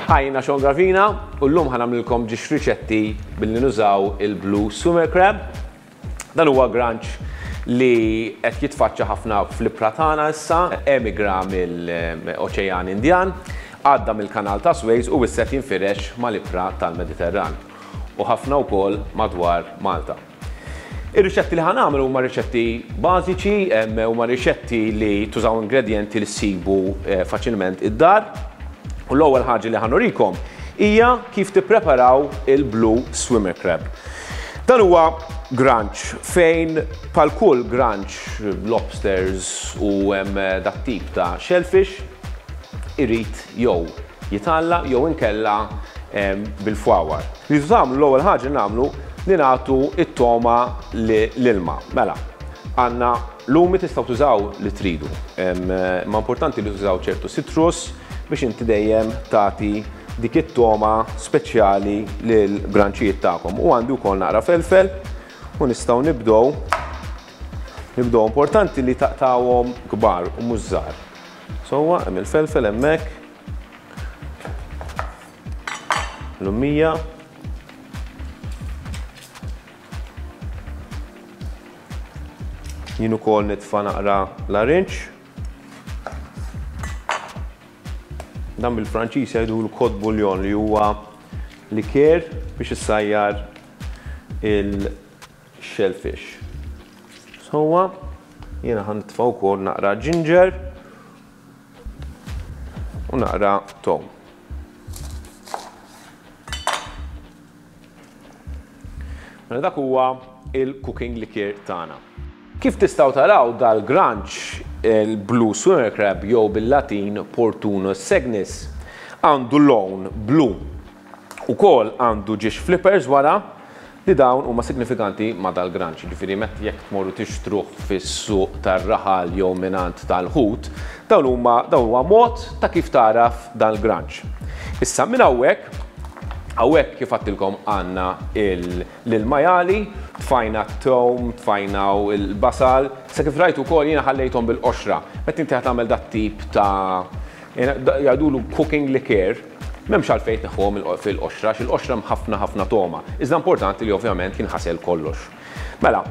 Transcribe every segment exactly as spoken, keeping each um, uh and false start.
Hi, jiena Sean Gravina u llum ħa nagħmlilkom ġiex riċetti billi nużaw il-Blue Swimmer Crab. Dan huwa granċ li qed jitfaċċa ħafna fl-ibħra tagħna issa, emigra mill-Oċean Indjan, għadda mill-Kanal ta' Suez u issa qed jinfirex mal-ibħra tal-Mediterran u ħafna wkoll madwar Malta. Ir-riċetti li ħa nagħmlu huma riċetti bażiċi, huma riċetti li tużaw ingredjenti li ssibu faċilment id-dar. U l-ewwel ħaġa li ħa nurikom hija kif tippreparaw il-Blue Swimmer Crab. Dan huwa granċ fejn bħal kull granċ, lobsters u dat tip ta' shellfish irid jew jitgħalla jew inkella bil-fwawar. Li tagħmlu l-ewwel ħaġa nagħmlu li nagħtu it-toma l-ilma. Mela, għandna lumi tistgħu tużaw li tridu. Ma importanti li tużaw ċertu citrus biex inti dejjem tagħti dik it-toma speċjali lil granċijiet tagħkom. U għandi wkoll naqra felfel u nistgħu nibdew. Nibdew importanti li taqtawhom kbar u mhux żgħar. Sewwa hemm il-felfel hemmhekk. Lumija. Jien ukoll nitfa' naqra l-arinċ. Dan bil-Franċiż jgħidu l-cod bouillon li huwa liker biex issajjar il-shellfish. Sewwa, jiena ħa nitfa' wkoll naqra ginger u naqra tom. Mela dak huwa il-cooking liqueur tagħna. Kif tistgħu taraw dal-granċ il-Blue Swimmer Crab jew bil-Latin Portunus segnis għandu lawn blu. Ukoll għandu ġiex flippers wara li dawn huma signifikanti ma' dal-granċ. Ġifieri meta jekk tmorru tixtruh fis-suq tar-raħal jew mingħand tal-ħut, dawn huma dawn huwa mod ta' kif taraf dal-granċ. Issa minn hawnhekk, hawnhekk kif għadtilkom għandna l-majali, tfajna t-tewm, tfajna l-basal, sa kif rajtu wkoll jiena ħallejthom bil-qoxra. Meta inti ħa tagħmel dat tip ta' jgħidulu cooking liqueur, m'hemmx għalfejn tneħħuhom fil-qoxra, għax il-qoxra hemm ħafna ħafna toma. Iżda importanti li ovvjament jinħasel kollox. Mela,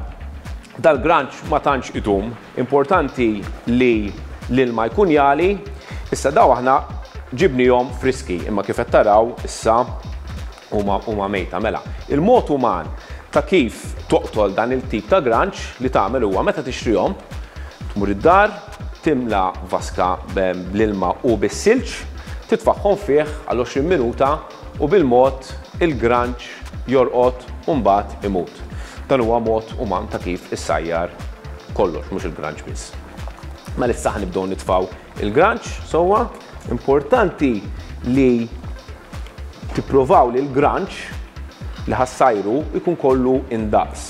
dal-granċ ma tantx idum, importanti li l-ilma jkun jali, issa daw aħna ġibnihom friski, imma kif qed taraw issa huma huma mejta. Mela, il-mod uman ta' kif toqtol dan il-tip ta' granċ li tagħmel huwa meta tixtrihom, tmur id-dar, timla vaska bl-ilma u bis-silġ, titfaħħom fih għal għoxrin minuta u bil-mod il-granċ jorqod u mbagħad imut. Dan huwa mod uman ta' kif issajjar kollox, mhux il-granċ biss. Mela issa ħa nibdew nitfgħu il-granċ sewwa. Importanti li tipprovaw li l-granċ li ħassajru jkun kollu indaqs,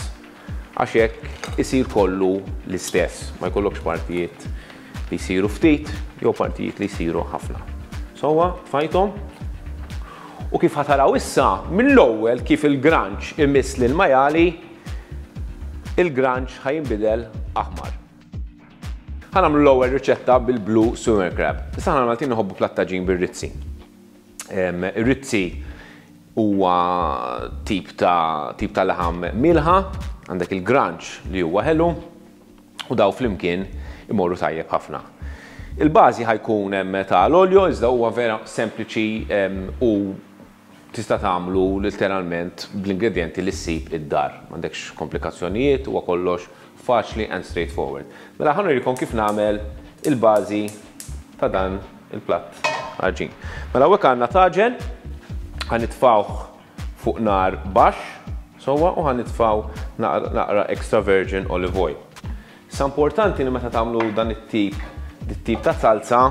għax hekk isir kollu l-istess, ma jkollokx partijiet li jsiru ftit jew partijiet li jsiru ħafna. Sewwa, tfajthom. U kif ħataraw issa, mill-ewwel kif il-granċ imiss lil majali, il-granċ ħajinbidel aħmar. Ħa nagħmlu l-ewwel riċetta bil-Blue Swimmer Crab. Issa aħna Maltin nħobbu plattaġin bir-rizzi. Ir-rizzi huwa tip ta' tip ta' laħam milħa, għandek il-granċ li huwa ħelu u daw flimkien imorru tajjeb ħafna. Il-bażi ħajkun hemm ta' l-olio, iżda huwa vera sempliċi u tista' tagħmlu literalment bl-ingredjenti li ssib id-dar. M'għandekx komplikazzjonijiet, huwa kollox faċli and straightforward. Mela ħa nurikom kif nagħmel il-bażi ta' dan il-platt għaġin. Mela hawnhekk għandna taġen, ħa nitfgħuh fuq nar baxx, sewwa, u ħa nitfgħu naqra extra virgin olive oil. Issa importanti li meta tagħmlu dan it-tip, dit-tip ta' salsa,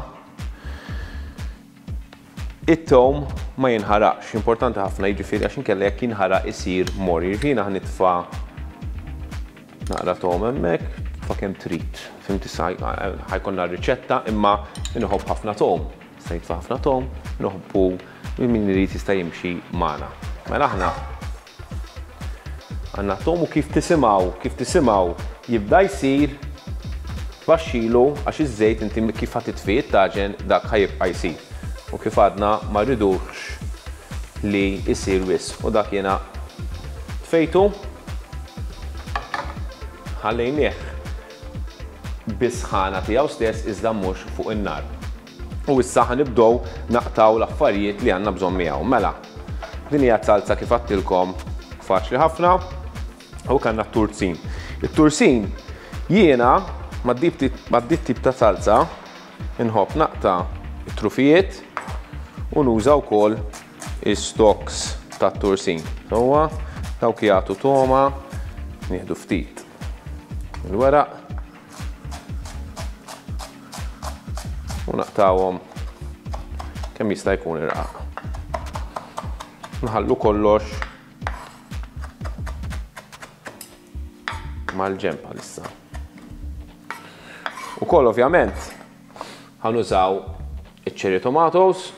it-tewm ma jinħaraqx. Importanti ħafna, jiġifieri għax inkella jekk jinħaraq isir mor. Jiġifieri ħa nitfa' naqra tewm hemmhekk, tfa' kemm trid. Fimt issa ħajkonna r-riċetta, imma inħobb ħafna tewm. Jista' jitfa' ħafna tewm, inħobbu min irid jista' jimxi magħna. Mela aħna għandna tewm u kif tisimgħu, kif tisimgħu jibda jsir baxxilu għax iż-żejt inti kif ħa titfi it-taġen dak ħajibqa' jsir. U kif għadna ma rridux li jsir wisq. U dak jiena tfejtu, ħallejnieh bis-sħana tiegħu stess iżda mhux fuq in-nar. U issa ħa nibdew naqtaw l-affarijiet li għandna bżonn miegħu. Mela, din hija salsa kif għattilkom faċli ħafna. U kellna t-tursin. It-tursin jiena mad-dit tip ta' salsa inħobb naqta' it-trufijiet u nuża wkoll is-stocks tat-tursin. Sewwa, dawk jagħtu toma, nieħdu ftit il-weraq u naqtawhom kemm jista' jkun irqaq. Nħallu kollox mal-ġenb għalissa. Ukoll ovvjament ħanużaw iċ-cherry tomatoes,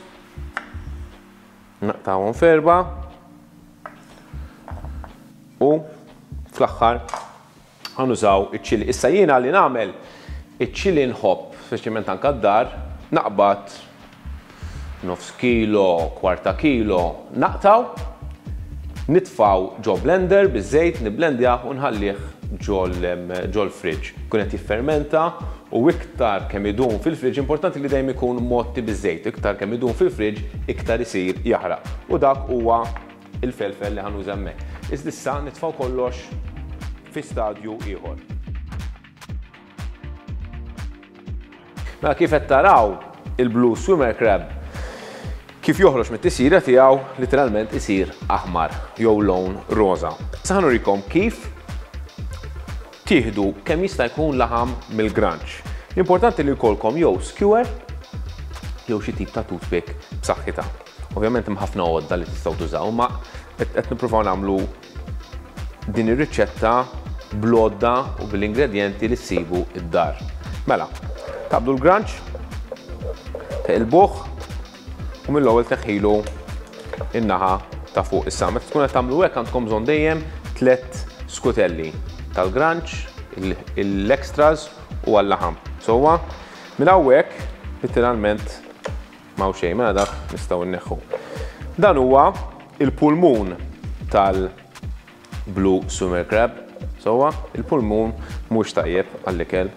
naqtawhom f'erba' u fl-aħħar ħanużaw iċ-ċili. Issa jiena li nagħmel iċ-ċili nħobb, speċjalment anke d-dar, naqbad nofs kilo, kwarta kilo, naqtaw, nitfaw ġo blender biż-żejt, niblendjah u nħallih ġol fridge. Kun qed jiffermenta u iktar kemm idum fil-fridge, importanti li dejjem ikun motti biż-żejt, iktar kemm idum fil-fridge, iktar isir jaħraq. U dak huwa il-felfel li ħanuża hemmhekk. Iżda issa nitfaw kollox fi stadju ieħor. Mela kif qed taraw il-blue swimmer crab kif joħroġ mit-tisjira tiegħu literalment isir aħmar jew lawn roża. Issa ħa nurikom kif tieħdu kemm jista' jkun laħam mill-granċ. L-importanti li jkollkom jew skewer jew xi tip ta' toothpick b'saħħitha. Ovvjament hemm ħafna għodda li tistgħu tużaw, ma qed nippruvaw nagħmlu din ir-riċetta bl-għodda u bil-ingredjenti li ssibu id-dar. Mela, taqbdu l-granċ, teqilbuh u mill-ewwel teħħilu in-naħa ta' fuq. Issa meta tkun qed tagħmlu hekk għandkom bżonn dejjem tliet skutelli tal-granċ, l-extras u għall-laħam. Sewwa, minn hawnhekk literalment m'hawn xejn, mela dak nistgħu nneħħu. Dan huwa il-pulmun tal-blue swimmer crab. Sewwa, il-pulmun mhux tajjeb għall-ikel.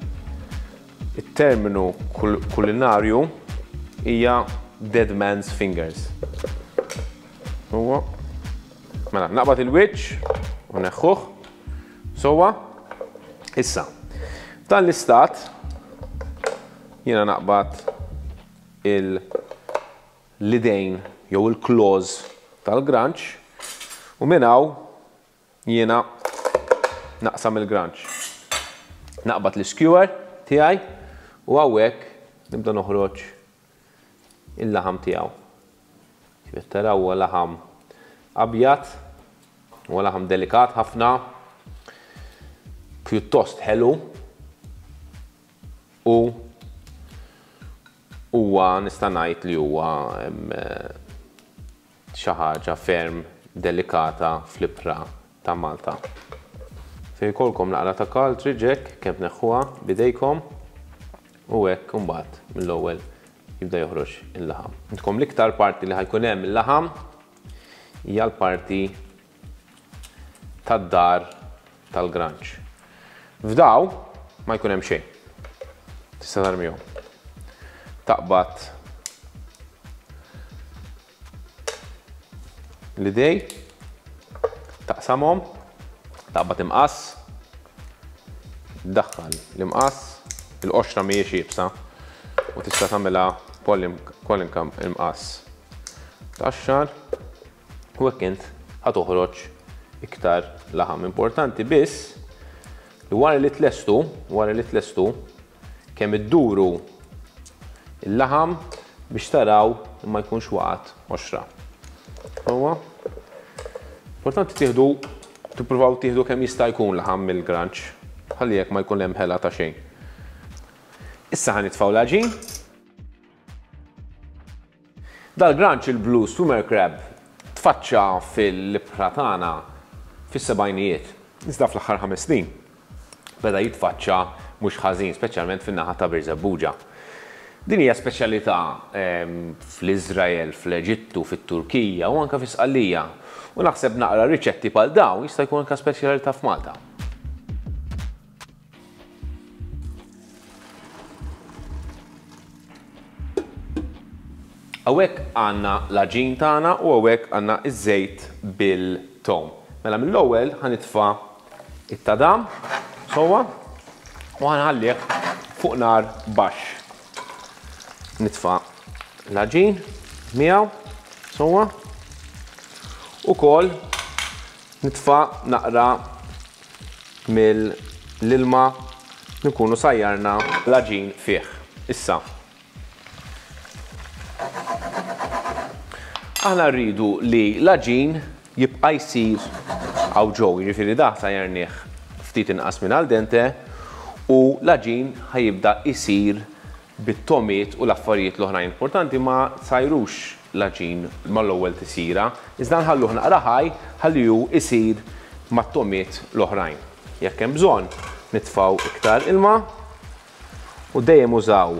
Il-terminu kulinarju hija dead man's fingers. Huwa. Mela, naqbad il-wiċċ u neħħuh. Sewwa, issa, f'dan l-istat jiena naqbad l-idejn jew il-claws tal-granċ u minn hawn jiena naqsam il-granċ. Naqbad l-skewer tiegħi u hawnhekk nibda noħroġ il-laħam tiegħu. Kif qed taraw huwa laħam abjad, huwa laħam delikat ħafna, pjuttost ħelu u huwa nista' ngħid li huwa xi ħaġa ferm delikata fl-ibħra ta' Malta. Fejn jkollkom naqra ta' cartridge hekk kemm tneħħuha b'idejkom u hekk imbagħad mill-ewwel jibda joħroġ il-laħam. Intkom l-iktar parti li ħajkun hemm il-laħam hija l-parti tad-dar tal-granċ. F'daw ma jkun hemm xejn. Tista' tarmihom. Taqbad l-idej, taqsamhom, taqbad imqass, tdaħħal l-imqass, il-qoxra mhijiex iebsa u tista' tagħmilha kwalunkwe imqass. Tqaxxar u hekk int ħa toħroġ iktar laħam. Importanti biss li wara li tlestu, wara li tlestu, kemm idduru il-laħam biex taraw li ma jkunx waqgħet qoxra. Huwa importanti tieħdu, tippruvaw tieħdu kemm jista' jkun laħam mill-granċ, ħalli jekk ma jkun hemm ħela ta' xejn. Issa ħa nitfgħu l-għaġin. Dal-granċ il-blue swimmer crab tfaċċa fil-ibħra tagħna fis-sebgħinijiet. Iżda fl-aħħar ħames snin beda jitfaċċa mhux ħażin, speċjalment fin-naħa ta' Birżebbuġa. Din hija speċjalità fl-Iżrael, fl-Eġittu, fit-Turkija u anke fi Sqallija. U naħseb naqra riċetti bħal dawn jista' jkun anke speċjalità f'Malta. Hawnhekk għandna l-għaġin tagħna u hawnhekk għandna iż-żejt bil-tom. Mela mill-ewwel ħa nitfa' it-tadam sewwa u ħa nħallih fuq nar baxx. Nitfa' l-għaġin miegħu sewwa. Ukoll nitfa' naqra mill-ilma li nkunu sajjarna l-għaġin fih. Issa, aħna rridu li l-għaġin jibqa' jsir hawn ġew, jiġifieri da sajjarnih ftit inqas minn al dente u l-għaġin ħa jibda jsir bit-tomiet u l-affarijiet l-oħrajn. Importanti ma tsajrux l-għaġin mal-ewwel tisira, iżda nħalluh naqra ħaj ħalli hu isir mat-tomiet l-oħrajn. Jekk hemm bżonn nitfgħu iktar ilma u dejjem użaw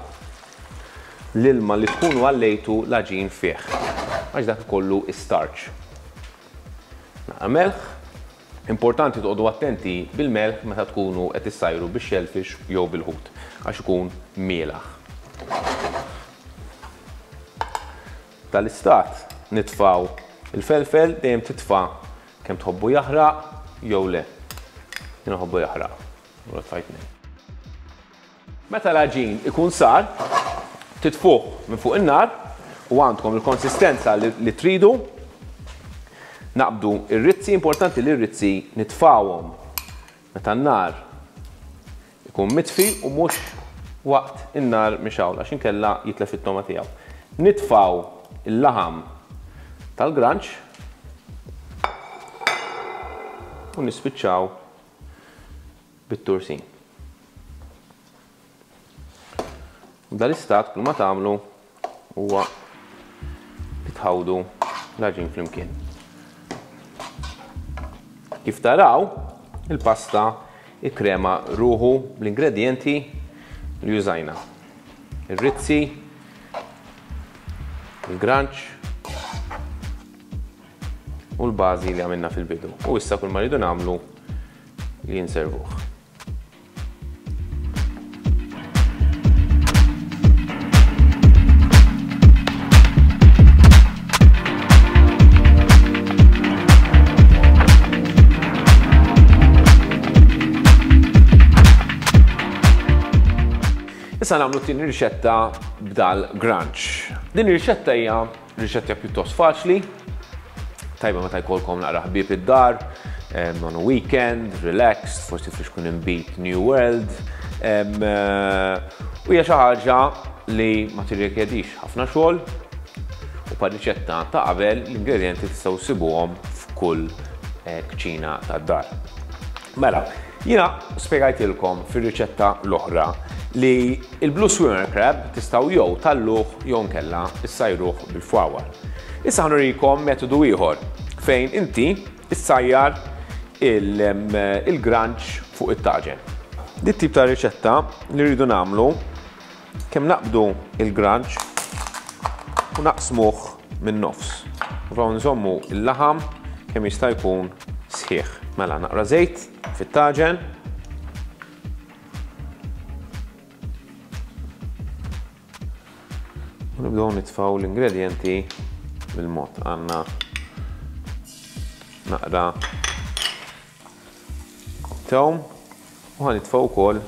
l-ilma li tkunu għallejtu l-għaġin fih, għax dak ikollu starch. Naqra melħ. Importanti toqgħodu attenti bil-melħ meta tkunu qed issajru bix-shellfish jew bil-ħut, għax ikun mielaħ. Tal-istat nitfaw il-felfel, dejjem titfa' kemm tħobbu jaħraq jew le. Jien nħobbu jaħraq, u tfajt tnejn. Meta l-għaġin ikun sar, titfuh minn fuq in-nar u għandkom il-konsistenza li, li tridu. Naqbdu ir-rizzi, importanti li r-rizzi nitfawhom meta n-nar ikun mitfi u mhux waqt in-nar mixgħul, għax inkella jitlef it-toma tiegħu. Nitfaw il-laħam tal-granċ u nispiċċaw bit-tursin. Dal-istat kull ma tagħmlu huwa li tħawdu l-għaġin flimkien. Kif taraw, il-pasta ikkrema ruħu bl-ingredienti li użajna. Ir-rizzi, il-granċ u l-bażi li għamilna fil-bidu. U issa kull ma rridu nagħmlu li nservuh. Issa nagħmlu t-tieni riċetta b'dal granċ. Din ir-riċetta hija riċetta pjuttost faċli, tajba meta jkollkom naqra ħbieb id-dar, on a weekend, relaxed, forsi flixkun inbid New World. U hija xi ħaġa li ma tirrikjedix ħafna xogħol u pa riċetta ta' qabel l-ingredienti tistgħu ssibuhom f'kull kċina tad-dar. Mela, jiena spjegajtilkom fir-riċetta l-oħra li il-Blue Swimmer Crab tistgħu jew talluh jew nkella issajruh bil-fwawar. Issa ħa nurikom metodu ieħor fejn inti issajjar il-granċ fuq it-taġen. Dit tip ta' riċetta li rridu nagħmlu kemm naqbdu il-granċ u naqsmuh min-nofs. Nprovaw nżommu il-laħam kemm jista' jkun sħiħ. Mela naqra żejt fit-taġen. U nibdew nitfgħu l-ingredienti bil-mod. Għandna naqra tewm u ħa nitfgħu wkoll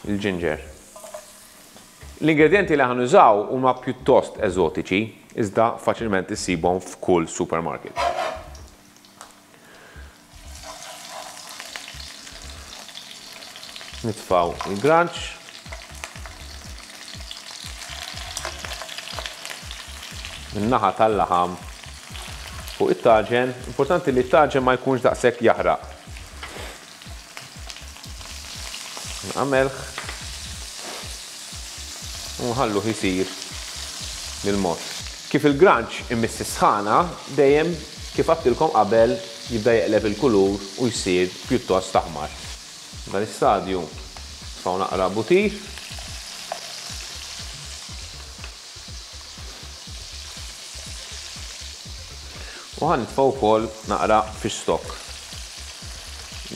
il-ġinġer. L-ingredienti li ħa nużaw huma pjuttost eżotiċi, iżda faċilment issibhom f'kull supermarket. Nitfaw il-granċ. Min-naħa tal-laħam fuq it-taġen. Importanti li t-taġen ma jkunx daqshekk jaħraq. Naqra melħ. U nħalluh isir bil-mod. Kif il-granċ imiss is-sħana, dejjem kif għedtilkom qabel jibda jeqleb il-kulur u jsir pjuttost aħmar. F'dan l-istadju nitfgħu naqra butir. U ħa nitfgħu wkoll naqra fish stock.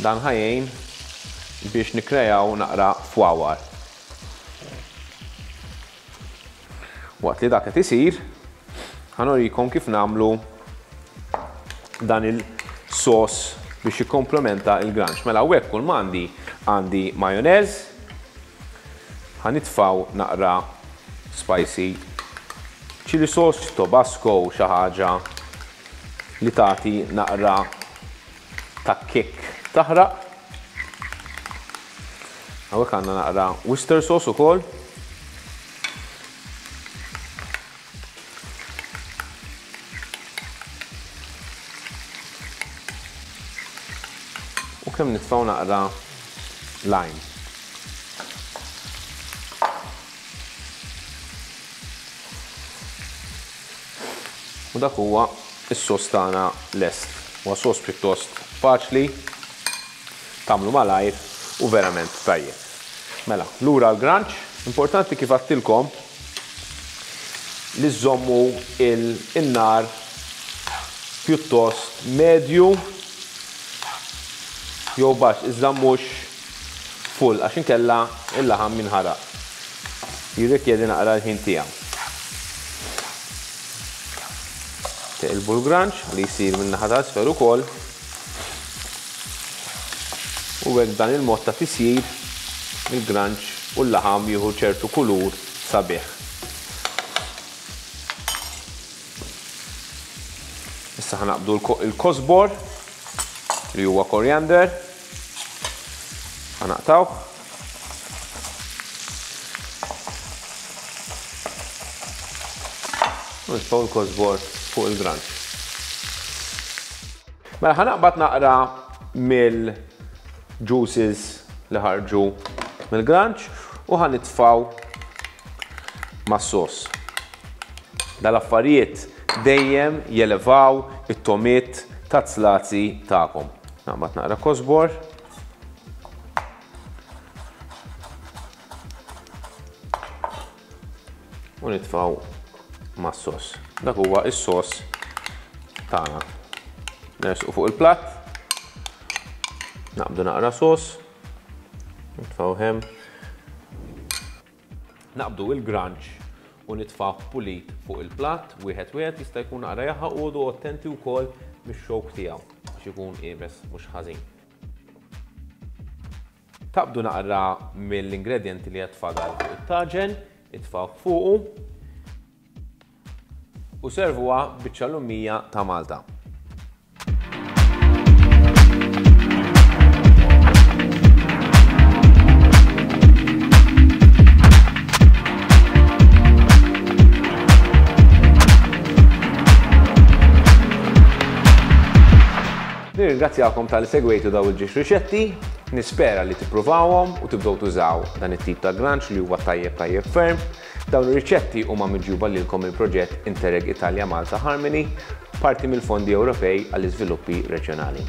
Dan ħa jgħin biex nikkrejaw naqra fwawar. Waqt li dak qed isir, ħa nurikom kif nagħmlu dan il-sos biex jikkomplementa il-granċ. Mela hawnhekk kull m'għandi għandi majonez, ħa nitfgħu naqra spicy chili sauce, Tabasco, xi ħaġa li tagħti naqra ta' kick taħraq. Hawnhekk għandna naqra Worcester sauce ukoll. U kemm nitfgħu naqra lime. U dak huwa is-sos tagħna lest. Huwa sos pjuttost faċli, tagħmlu malajr u verament tajjeb. Mela, lura l-granċ, importanti kif għedtilkom li żommu il-nar pjuttost medju jew baxx, iżda mhux full għax inkella il-laħam minħaraq. Jirrikjedi naqra l-ħin tiegħu. Teqilbu l-granċ li jsir minn naħa ta' isfel ukoll. U hekk dan il-mod ta' tisjir il-granċ u l-laħam jieħu ċertu kulur sabiħ. Issa ħa naqbdu l-kosbor li huwa koriander. Ħa naqtawh. U nitfgħu l-kosbor fuq il-granċ. Mela ħa naqbad naqra mill-juices li ħarġu mill-granċ u ħa nitfgħu mas-sos. Dal-affarijiet dejjem jelevaw it-tomiet ta' zlazi tagħkom. Naqbad naqra kosbor. U nitfgħu mas-sos. Dak huwa is-sos tagħna. Nersqu fuq il-platt. Naqbdu naqra sos. Nitfgħu hemm. Naqbdu il-granċ u nitfgħu pulit fuq il-platt. Wieħed wieħed jista' jkun naqra jaħaq u għodu attenti wkoll mix-xokk tiegħu biex ikun iebes mhux ħażin. Taqbdu naqra mill-ingredjenti li qed tfadal fuq it-taġen, itfgħu fuqu u servuha biċċa lumija ta' Malta. Nirringrazzjakom tal-li segwejtu daw il-ġiex riċetti, nispera li tippruvawhom u tibdew tużaw dan it-tip ta' granċ li huwa tajjeb tajjeb ferm. Dawn ir-riċetti huma miġjuba lilkom il-proġett Interreg Italia Malta Harmony, parti mill-fondi Ewropej għall-iżviluppi reġjonali.